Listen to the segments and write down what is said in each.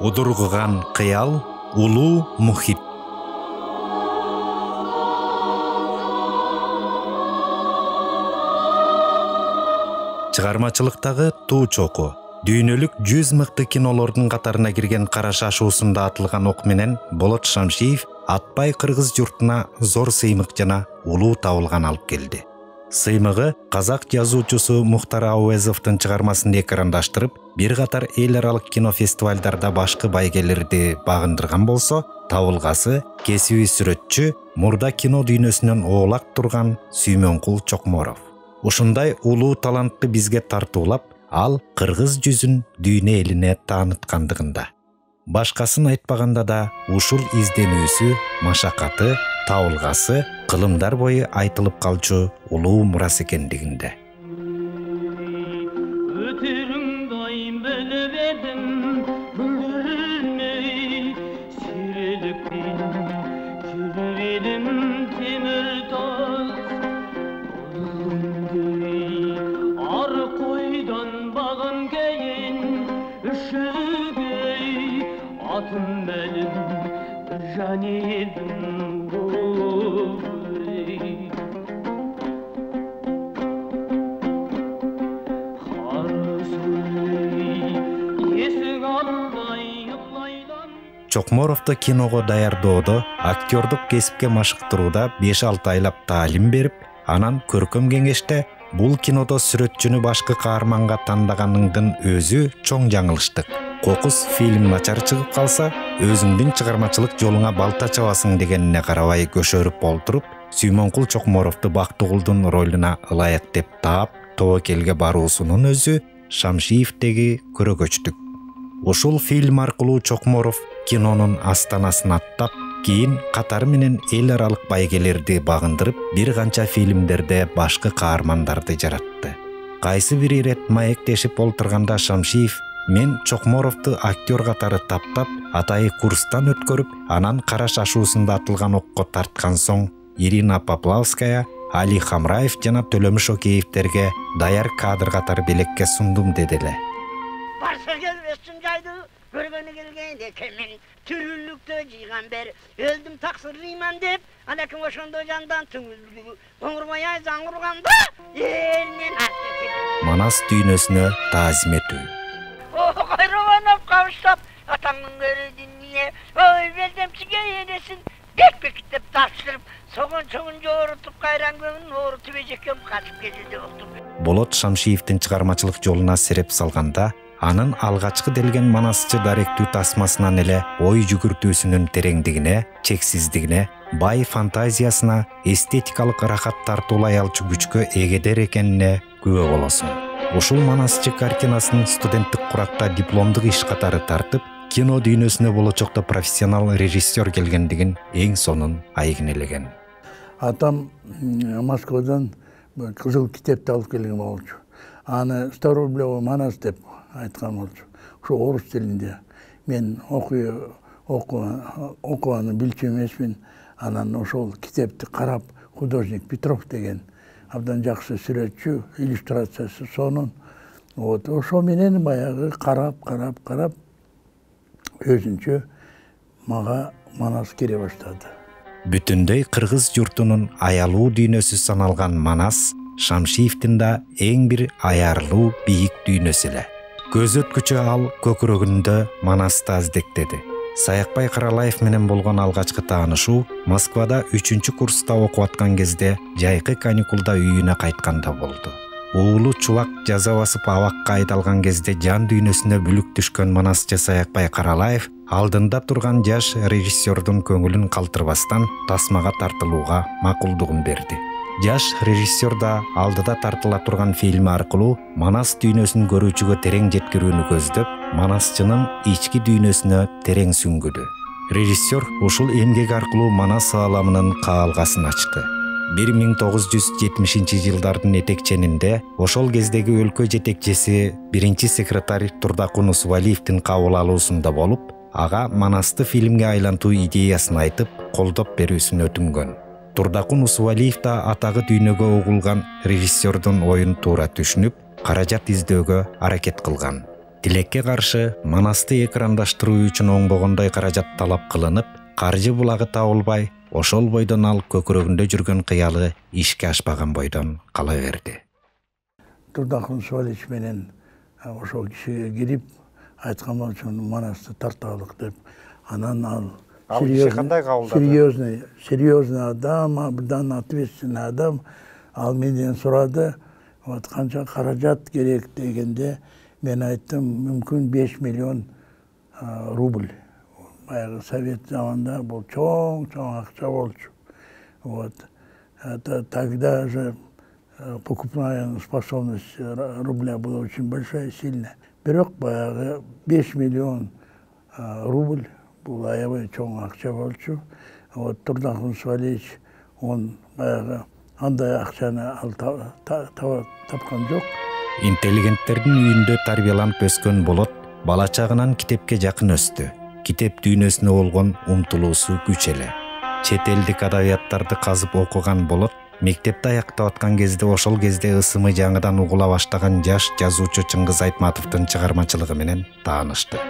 Удургуган кыял, улуу мухит. Чыгармачылыктагы туу чоку дүйнөлүк 100 мыкты кинолордун катарына кирген Кара шашуусунда атылган ок менен Болот Шамшиев Атбай кыргыз журтуна зор сыймык жана улуу табылган алып келди. Сыймыгы казак жазуучусу Мухтар Ауезовдун чыгармасын экрандаштырып, бир катар эл аралык кинофестивалдарда башкы байгелерди багындырган болсо, табылгасы кесиби сүрөтчү, мурда кино дүйнөсүнөн оолак турган Сүймөнкул Чокморов. Ушундай улуу талантты бизге тартуулап, ал кыргыз жүзүн дүйнө элине тааныткандыгында. Башкасын айтпаганда да ушул изденүүсү, машакаты, табылгасы кылымдар бою айтылып калчу улуу мурас экендигинде. Чокморовду киного даярдоодо, актёрдук кесипке машыктырууда 5-6 айлап таалим берип, анан көркөм кеңеште бул кинодо сүрөтчүнү башкы каарманга тандаганыңдын өзү чоң жаңылыштык. Кокус фильм начар чыгып калса, өзүңдүн чыгармачылык жолуңа балта чабасың дегенине карабай көшөрүп олтуруп, Сүймөнкул Чокморовду Бактыгулдун ролуна ылайык деп таап, тобокелге баруусунун өзү Шамшиевдеги көрөгөчтүк. Ушул фильм аркылуу Чокморов кинонун астанасын аттап, кийин катары менен эл аралык байгелерди багындырып, бир канча фильмдерде башкы каармандарды жаратты. Кайсы бир ирет маектешип олтурганда Шамшиев: "Мен Чокморовду актер катары таптап, атайы курстан өткөрүп, анан Кара шашуусунда атылган окко тарткан соң, Ирина Поплавская, Али Хамраев жана Төлөмүш Океевтерге даяр кадр катары белекке сундум" деделе. Барса келбесин жайды көргөнү келген экен, мен түрүлүктө жыйган бер өлдүм таксырлыйман деп, анаким ошондо жандан түңүлгү оңурбай ай заңурганда элмен аттып Манас дүйнөсүнө таазим этүү. Кайраганып кабыштап, атаңдын көрүдүнүне, ой белдемчиге энесин бек-бектеп тапшырып, согон-согон жоорутуп кайран көңүн оорутуп эжекем катып келди болду. Болот Шамшиевдин чыгармачылык жолуна сереп салганда, анын алгачкы делген манасчы даректүү тасмасынан эле ой жүгүртүүсүнүн тереңдигине, чексиздигине, бай фантазиясына, эстетикалык рахат тартуулай алчу күчкө эгедер экенине күбө болосуң. Ушул манасчы картинасын студенттик куракта дипломдук иш катары тартып, кино дүйнөсүнө болочокто профессионал режиссер келгендигин эң сонун айгинелеген. Атам Москвадан кызыл китепти алып келген болчу. Аны Староублёво Манас деп айткан болчу. Ушу орус тилинде. Мен окуганы билчү эмесмин. Анан ошол китепти карап, художник Петров деген абдан жакшы сүрөтчү, иллюстрациясы сонун. Ошо менен баягы карап өзүнчө мага Манас кире баштады. Бүтүндөй кыргыз журтунун аялуу дүйнөсү саналган Манас Шамшиевдин да эң бир аярлуу бийик дүйнөсү эле. Көз өткүчө ал көкүрөгүндө Манасты аздектеди. Саякбай Каралаев менен болгон алгачкы таанышуу Москвада 3-чү курста окуп аткан кезде жайкы каникулда үйүнө кайтканда болду. Уулу Чулак жаза басып абакка айдалган кезде жан дүйнөсүнө бүлүк түшкөн манасчы Саякбай Каралаев алдында турган жаш режиссердун көңүлүн калтырбастан тасмага тартылууга макулдугун берди. Жаш режиссер да алдыда тартыла турган фильм аркылуу Манас дүйнөсүн көрүүчүгө терең жеткирүүнү көздөп, манасчынын ички дүйнөсүнө терең сүңгүдү. Режиссер ушул эмгек аркылуу Манас ааламынын каалгасын ачты. 1970-жылдардын этекченинде ошол кездеги өлкө жетекчиси биринчи секретарь Турдакун Усубалиевдин кабыл алуусунда болуп, ага Манасты фильмге айлантуу идеясын айтып, колдоп берүүсүн өтүнгөн. Турдакун Усубалиев да атагы дүйнөгө угулган режиссердун оюн туура түшүнүп, каражат издөөгө аракет кылган. Тилекке каршы Манасты экрандаштыруу үчүн оңбогондой каражат талап кылынып, каржы булагы табылбай, ошол бойдон ал көкүрөгүндө жүргөн кыялы ишке ашпаган бойдон кала берди. Турдахун Суалич менен ошол кишиге кирип айткан болчу Манасты тарталык деп. Анан ал серьезный адам, абдан ответственный адам. Ал менден сурады, вот канча каражат керек дегенде, мен айттым, мүмкүн 5 миллион рубль. Баягы совет заманда бул чоң акча болчу. Вот. Это тогда же покупная способность рубля была очень большая, сильная. Бирок баягы 5 миллион рубль бул аябай чоң акча болчу. Вот Турдахун Суалич, он баягы андай акчаны ал тапкан жок. Интеллигенттердин үйүндө тарбияланып өскөн Болот бала чагынан китепке жакын өстү. Китеп дүйнөсүнө болгон умтулуусу күч эле. Чет элдик адабияттарды казып окуган Болот мектепти аяктап аткан кезде ошол кезде ысымы жаңыдан угула баштаган жаш жазуучу Чыңгыз Айтматовдун чыгармачылыгы менен таанышты.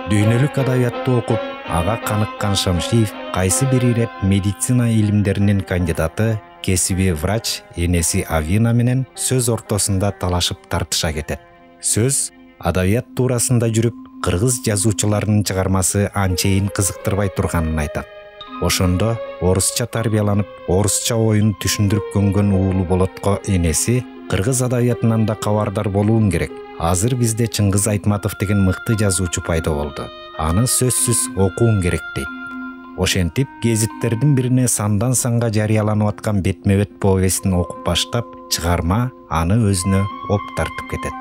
Дүйнөлүк адабиятты окуп, ага каныккан Шамшиев кайсы бир ирет медицина илимдеринин кандидаты, кесиби врач энеси Авина менен сөз ортосунда талашып тартыша кетет. Сөз адабият туурасында жүрүп, кыргыз жазуучуларынын чыгармасы анчейин кызыктырбай турганын айтат. Ошондо орусча тарбияланып, орусча оюн түшүндүрүп көнгөн уулу Болотко энеси кыргыз адабиятынан да кабардар болуун керек. Азыр бизде Чыңгыз Айтматов деген мыкты жазуучу пайда болду. Аны сөзсүз окуун керек дейт. Ошентип, гезиттердин бирине сандан санга жарыяланып аткан бетме-бет повестин окуп баштап, чыгарма аны өзүнө оп тартып кетет.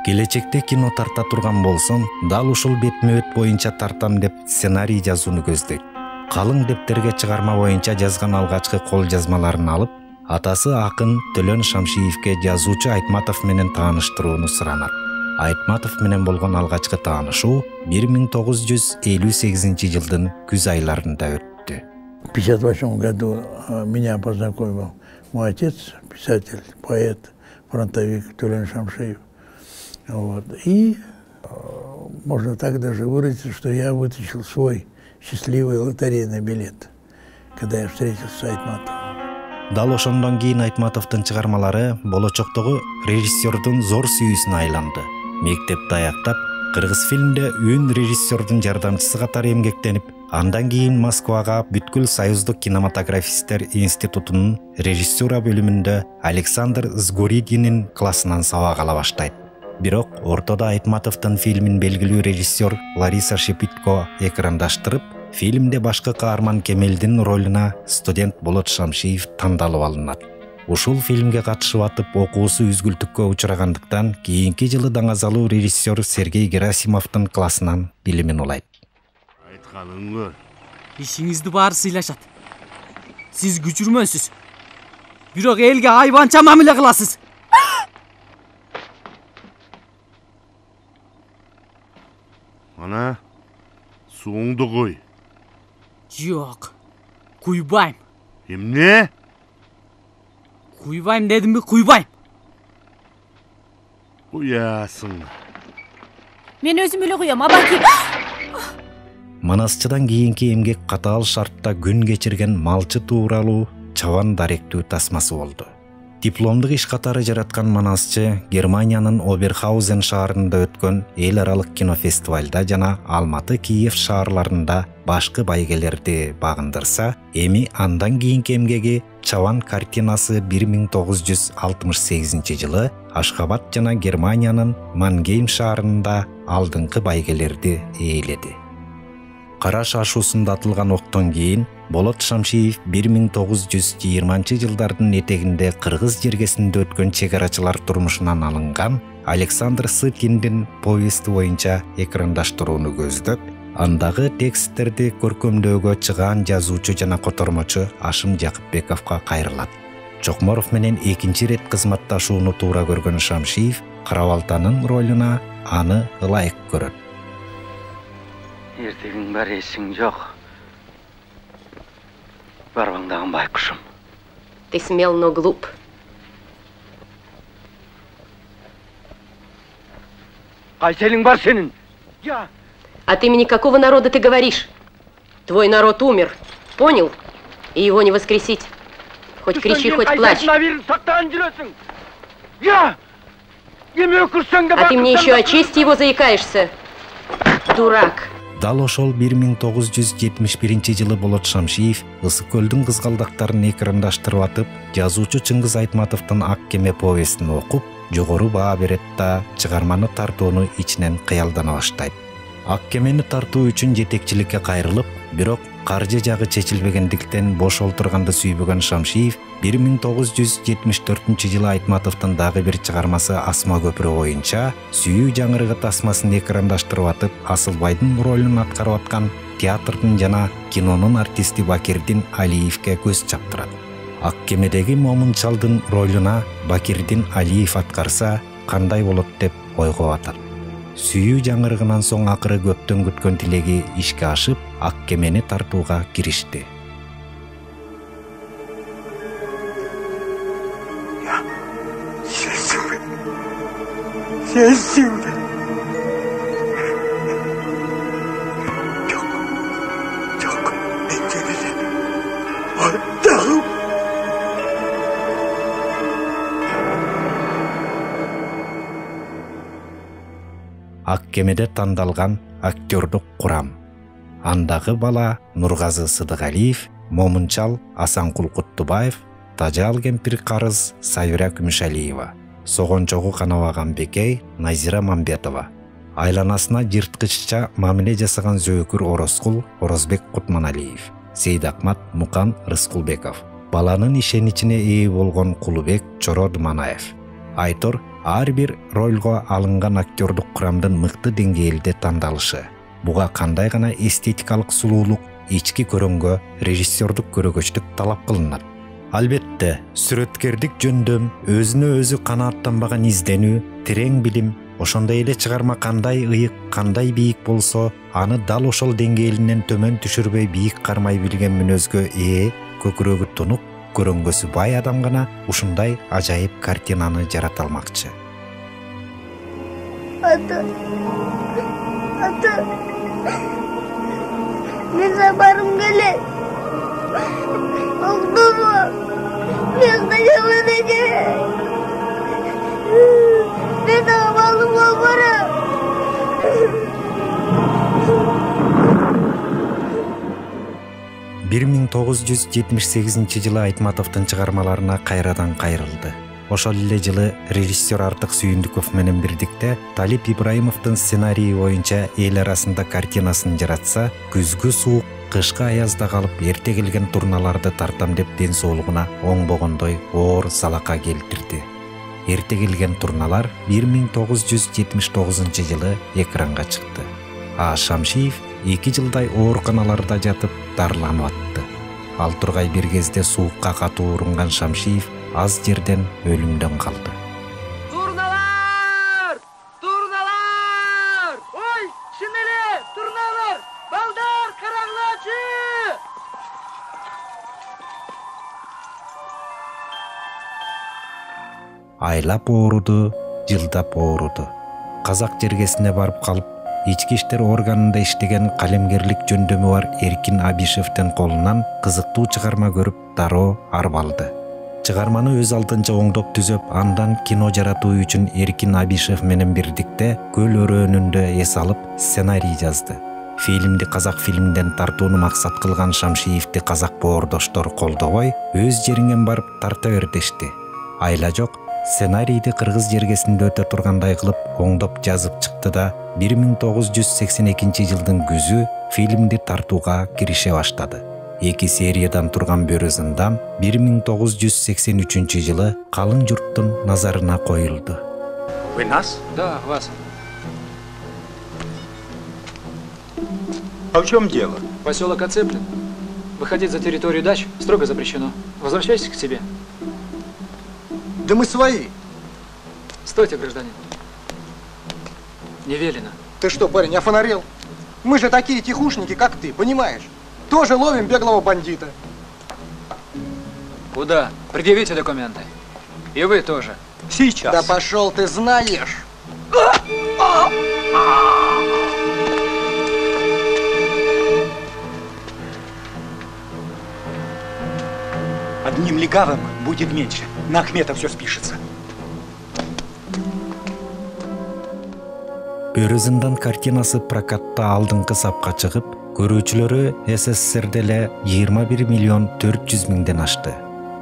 Келечекте кино тарта турган болсом, дал ушул бетме-бет боюнча тартам деп сценарий жазууну көздөйт. Калың дептерге чыгарма боюнча жазган алгачкы кол жазмаларын алып, атасы акын Төлөн Шамшиевке жазуучу Айтматов менен тааныштырууну суранат. Айтматов менен болгон алгачкы таанышуу 1958 жылдын күз айларында өттү. В 1958 году меня познакомил мой отец, писатель, поэт, фронтовик Төлөн Шамшиев. Вот. И можно так даже выразить, что я вытащил свой счастливый лотерейный билет, когда я встретился с Айтматовым. Дал ошондон кийин Айтматовдун чыгармалары болочоктогу режиссердун зор сүйүүсүнө айланды. Мектепти аяктап, кыргыз фильмде үн режиссердун жардамчысы катары эмгектенип, андан кийин Москвага бүткүл Союздук кинематографисттер институтунун режиссура бөлүмүндө Александр Сгуридинин классынан сабак ала баштайт. Бирок ортодо Айтматовдун фильмин белгилүү режиссер Лариса Шепитко экрандаштырып, фильмде башкы каарман Кемелдин ролуна студент Болот Шамшиев тандалып алынат. Ушул фильмге катышып атып окуусу үзгүлтүккө учурагандыктан кийинки жылы даңазалуу режиссер Сергей Герасимовдун классынан билимин улайт. Айтканың көр. Ишиңизди баары сыйлашат. Сиз күчүрмөсүз. Бирок элге айбанча мамиле кыласыз. Ана, суыңды кой. Жок. Куйбайм. Эмне? Куйбайм дедимби, куйбайм. Куясың. Мен өзүм эле куям, абаки. Манасчыдан кийинки эмгек катаал шартта күн кечирген малчы тууралуу чабан даректүү тасмасы болду. Дипломдук иш катары жараткан Манасчы Германиянын Оберхаузен шаарында өткөн эл аралык кинофестивалда жана Алматы, Киев шаарларында башкы байгелерди багындырса, эми андан кийинки эмгеги Чабан картинасы 1968 жылы Ашхабад жана Германиянын Мангейм шаарында алдыңкы байгелерди ээледи. Кара шашуусунда атылган октон кийин Болот Шамшиев 1920 жылдардын этегинде кыргыз жергесинде өткөн чегарачылар турмушунан алынган Александр Сытиндин повести боюнча экрандаштырууну көздөп, андагы тексттерди көркөмдөөгө чыгаан жазуучу жана котормочу Ашым Жакыпбековго кайрылат. Чокморов менен экинчи рет кызматташууну туура көргөн Шамшиев Карабалтанын ролуна аны ылайык көрөт. Эртегиң бар эсиң жок. Барбаңдаган байкушум. Ты смел, но глуп. Кайселиң бар сенин? Я. От имени какого народа ты говоришь? Твой народ умер. Понял? И его не воскресить. Хоть кричи, хоть плачь. Я! А ты мне еще о чести его заикаешься? Дурак. Дал ошол 1971-жылы Болот Шамшиев Ысык көлдүн кызгалдактарын экрандаштырып атып, жазуучу Чыңгыз Айтматовдун Ак кеме повестин окуп, жогору баа берет да чыгарманы тартууну ичинен кыялдана баштайт. Ак кемени тартуу үчүн жетекчиликке кайрылып, бирок каржы жагы чечилбегендиктен бош олтурганды сүйбөгөн Шамшиев 1974-жылы Айтматовдун дагы бир чыгармасы Асма көпүрө боюнча сүйүү жаңырыгы тасмасын экрандаштырып атып, Асылбайдын ролун аткарып аткан театрдын жана кинонун артисти Бакирдин Алиевке көз чаптырат. Ак кемедеги Момунчалдын ролуна Бакирдин Алиев аткарса кандай болот деп ойго батат. Сүйүү жаңырыгынан соң акыры көптөн күткөн тилеги ишке ашып, Ак кемени тартууга киришти. Сенсиңби? Жок, мен сени аттагым. Ак кемеде тандалган актёрдук курам. Андагы бала Нургазы Сыдыгалиев, Момунчал Асанкул Куттубаев, Тажал кемпир карыз Сайра Күмүшалиева, Согончогу Канабаган Бекей Назира Мамбетова, айланасына жырткычча мамиле жасаган Зөөкүр Орозкул Орозбек Кутманалиев, Сейдакмат Мукан Рыскулбеков, баланын ишеничине ээ болгон Кулубек Чоро Думанаев. Айтор ар бир ролго алынган актёрдук курамдын мыкты деңгээлде тандалышы. Буга кандай гана эстетикалык сулуулук, ички көрөнгө, режиссердук көрөгөчтүк талап кылынат. Албетте, сүрөткердик жөндөм, өзүнө өзү канааттанбаган изденүү, терең билим, ошондой эле чыгарма кандай ыйык, кандай бийик болсо, аны дал ошол деңгээлинен төмөн түшүрбөй бийик кармай билген мүнөзгө ээ, көкүрөгү тунук, көрөнгөсү бай адам гана ушундай ажайып картинаны жарата алмакчы. Ата, мен барым келет. Октому, мен качаман экен. Мен амалым болбором. 1978-жылы Айтматовдун чыгармаларына кайрадан кайрылды. Ошол эле жылы режиссер Артык Сүйүндүков менен бирдикте Талип Ибраимовдун сценарийи боюнча эл арасында картинасын жаратса, күзгү суук, кышкы аязда калып эрте келген турналарды тартам деп ден соолугуна оңбогондой оор салака келтирди. Эрте келген турналар 1979-жылы экранга чыкты. А Шамшиев 2 жылдай ооруканаларда жатып дарыланып атты. Ал тургай бир кезде суукка катуу урунган Шамшиев аз жерден өлүмдөн калды. Турналар! Турналар! Ой, чын эле, турналар! Балдар, караңлачы! Айлап ооруду, жылдап ооруду. Казак жергесине барып калып, ички иштер органында иштеген калемгерлик жөндөмү бар Эркин Абишевдин колунан кызыктуу чыгарма көрүп дароо арбалды. Чыгарманы өз алдынча оңдоп түзөп, андан кино жаратуу үчүн Эркин Абишев менен бирдикте Көл өрөөнүндө эс алып сценарий жазды. Фильмди казак фильмден тартууну максат кылган Шамшиевди казак боордоштор колдобой, өз жериңен барып тарта бер дешти. Айла жок, сценарийди кыргыз жергесинде өтө тургандай кылып оңдоп жазып чыкты да 1982-жылдын күзү фильмди тартууга кирише баштады. 2 сериядан турган Бөрү зындан 1983-жылы калың журттун назарына коюлду. Вы нас? Да, вас. А в чем дело? Поселок оцеплен. Выходить за территорию дач строго запрещено. Возвращайтесь к себе. Да мы свои. Стойте, гражданин. Не велено. Ты что, парень, офонарел? Мы же такие тихушники, как ты, понимаешь? Тоже ловим беглого бандита. Куда? Предъявите документы. И вы тоже. Сейчас. Да пошел ты знаешь. Одним легавым будет меньше. На Ахмета все спишется. Өрү зындан картинасы прокатта алдыңкы сапка чыгып, көрүүчүлөрү СССРде эле 21 миллион 400 миңден ашты.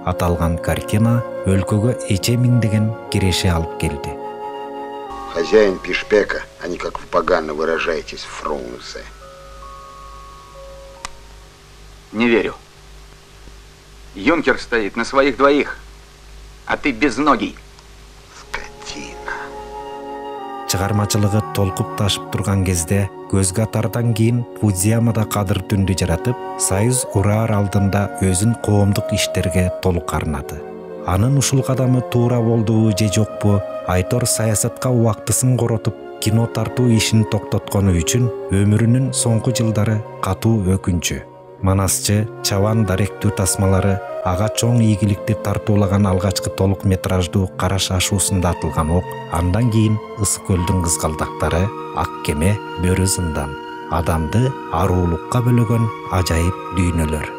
Аталган картина өлкөгө эче миңдеген киреше алып келди. Хозяин пишпека, а не как вы погано выражаетесь, фрунзе. Не верю. Юнкер стоит на своих двоих, а ты безногий. Чыгармачылыгы толкуп ташып турган кезде көзгө атардан кийин Фудзиямада кадыр түндү жаратып, Союз ураар алдында өзүн коомдук иштерге толук арнады. Анын ушул кадамы туура болдубу же жокпу, Айтор саясатка убактысын коротуп, кино тартуу ишин токтоткону үчүн өмүрүнүн соңку жылдары катуу өкүнчү. Манасчы, чабан даректүү тасмалары, ага чоң ийгиликти тартуулаган алгачкы толук метраждуу Караш ашуусунда атылган ок, андан кийин Ысык көлдүн кызгалдактары, Ак кеме, Бөрү зындан, адамды аруулукка бөлөгөн ажайып дүйнөлөр.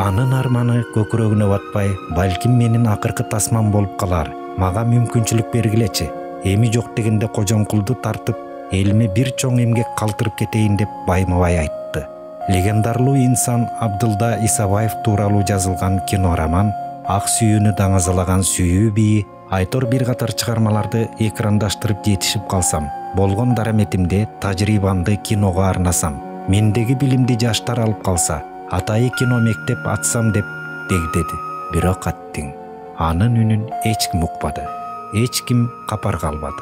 Анын арманы көкүрөгүнө батпай, балким менин акыркы тасмам болуп калар, мага мүмкүнчүлүк бергилечи. Эми жок дегенде Кожомкулду тартып, элиме бир чоң эмгек калтырып кетейин деп байма-бай айтты. Легендарлуу инсан Абдылда Исабаев тууралуу жазылган кинороман, ак сүйүүнү даңазалаган сүйүү бии, Айтор бир катар чыгармаларды экрандаштырып жетишип калсам, болгон дараметимди, тажрыйбамды киного арнасам, мендеги билимди жаштар алып калса, атайы кино мектеп ачсам деп дегдеди. Бирок аттиң. Анын үнүн эч ким укпады. Эч ким капарга албады.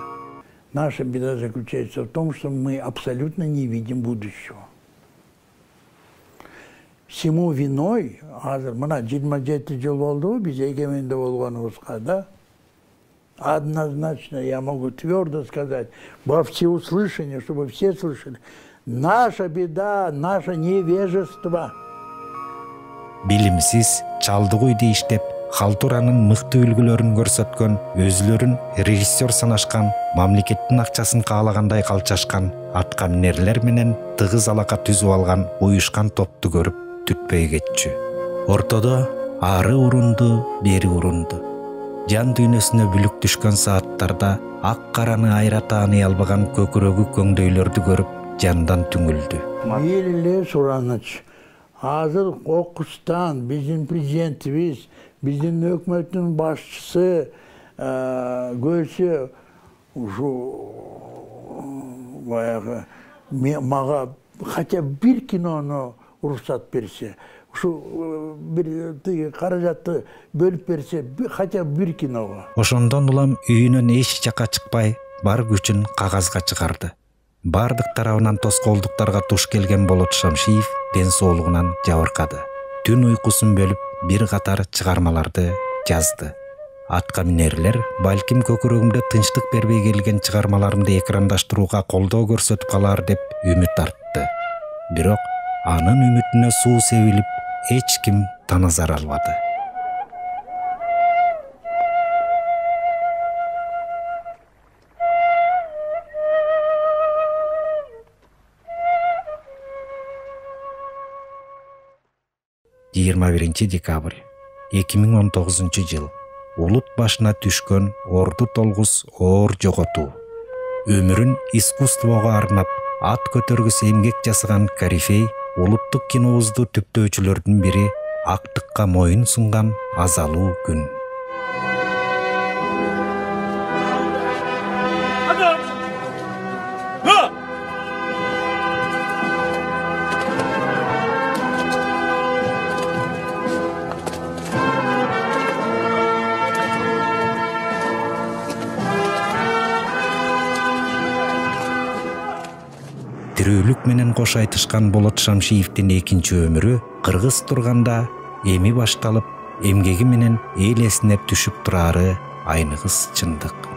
Наша беда заключается в том, что мы абсолютно не видим будущего. Всему виной, мына 27 жыл болду биз эгеменде болгонубузга да, однозначно я могу твердо сказать, во всеуслышание, чтобы все слышали, наша беда, наше невежество. Билимсиз, чалдык үйдө иштеп, халтуранын мыкты үлгүлөрүн көрсөткөн, өзүлөрүн режиссер санашкан, мамлекеттин акчасын каалагандай калчашкан, аткаминерлер менен тыгыз алака түзүп алган уюшкан топту көрүп түтпөй кетчү. Ортодо ары урунду, бери урунду. Жан дүйнөсүнө бүлүк түшкөн сааттарда ак караны айра тааный албаган көкүрөгү көңдөйлөрдү көрүп жандан түңүлдү. Эле Сураныч, азыр окустан биздин президентибиз, биздин өкмөттүн башчысы көрсө ушу баягы мага хотя бы бир кинону уруксат берсе, ушу бир каражатты бөлүп берсе, хотя бы бир киного. Ошондон улам үйүнөн эч жака чыкпай, бар күчүн кагазга чыгарды. Бардык тарабынан тоскоолдуктарга туш келген Болот Шамшиев ден соолугунан жабыркады. Түн уйкусун бөлүп, бир катар чыгармаларды жазды. Аткаминерлер балким көкүрөгүмдө тынчтык бербей келген чыгармаларымды экрандаштырууга колдоо көрсөтүп калар деп үмүт артты. Бирок анын үмүтүнө суу себилип, эч ким таназар албады. Декабрь 2019 жыл. Улут башына түшкөн Орду Толгус оор жоготуу. Өмүрүн искусствого арнап, ат көтөргүс эмгек жасаган корифей, улуттук кинобузду түптөөчүлөрдүн бири, актыкка моюн сунган азалуу күн. Тирүүлүк менен кош айтышкан Болот Шамшиевдин экинчи өмүрү кыргыз турганда эми башталып, эмгеги менен эл эсине түшүп турары айныгыс чындык.